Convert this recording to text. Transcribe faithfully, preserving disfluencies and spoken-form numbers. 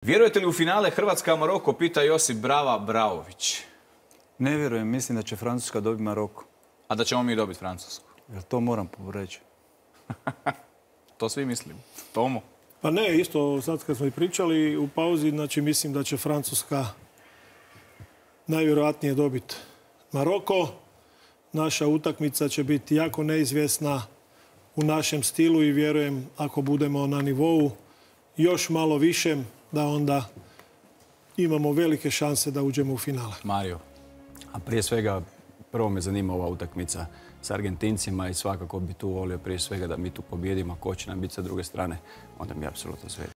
Vjerujete li u finale Hrvatska-Maroko, pita Josip Brava Bravović. Ne vjerujem, mislim da će Francuska dobiti Maroko. A da ćemo mi dobiti Francusku? Jel to moram reći? To svi mislim. Tomo? Pa ne, isto sad kad smo i pričali u pauzi, znači mislim da će Francuska najvjerojatnije dobiti Maroko. Naša utakmica će biti jako neizvjesna u našem stilu i vjerujem ako budemo na nivou još malo višem da onda imamo velike šanse da uđemo u finale. Mario? A prije svega, prvo me zanima ova utakmica s Argentincima i svakako bi tu volio prije svega da mi tu pobjedimo. Ko će nam biti sa druge strane, onda mi je apsolutno sve.